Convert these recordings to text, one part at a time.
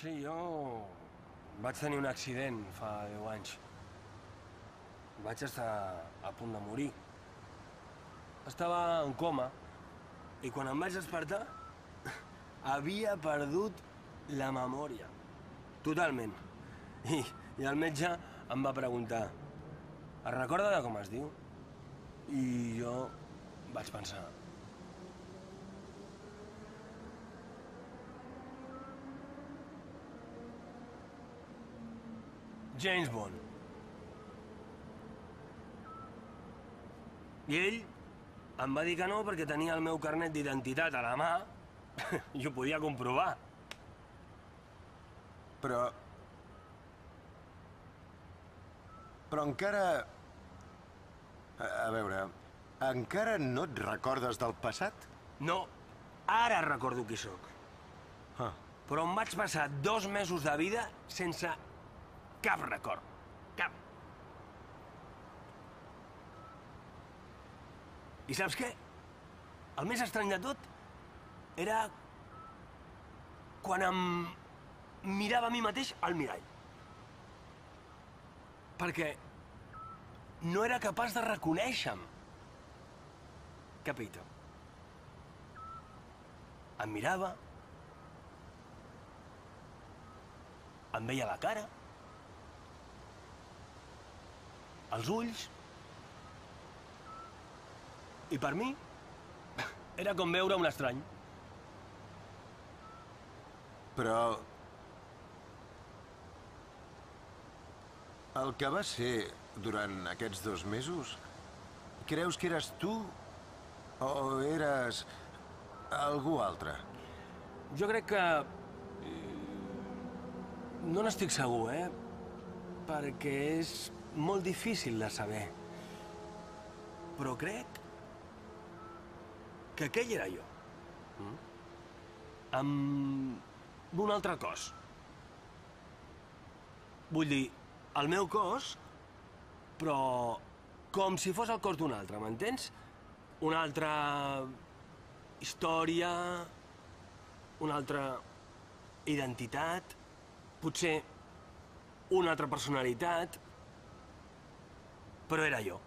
Sí, jo vaig tenir un accident fa 10 anys. Vaig estar a punt de morir. Estava en coma i quan em vaig despertar havia perdut la memòria. Totalment. I el metge em va preguntar: es recorda de com es diu? I jo vaig pensar: James Bond. I ell em va dir que no perquè tenia el meu carnet d'identitat a la mà i ho podia comprovar. Però encara... A veure, encara no et recordes del passat? No, ara recordo qui sóc. Ah. Però em vaig passar 2 mesos de vida sense cap record. Cap. I saps què? El més estrany de tot era quan em mirava a mi mateix al mirall. Perquè no era capaç de reconèixer-me. Capito. Em mirava, em veia la cara, els ulls, i per mi era com veure un estrany. Però... el que va ser durant aquests 2 mesos, creus que eres tu o eres algú altre? Jo crec que... no n'estic segur, perquè és molt difícil de saber. Però crec que aquell era jo. Amb un altre cos. Vull dir, el meu cos, però com si fos el cos d'un altre, m'entens? Una altra història, una altra identitat, potser una altra personalitat, però era jo.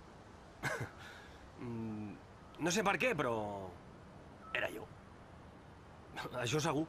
No sé per què, però era jo. Això segur.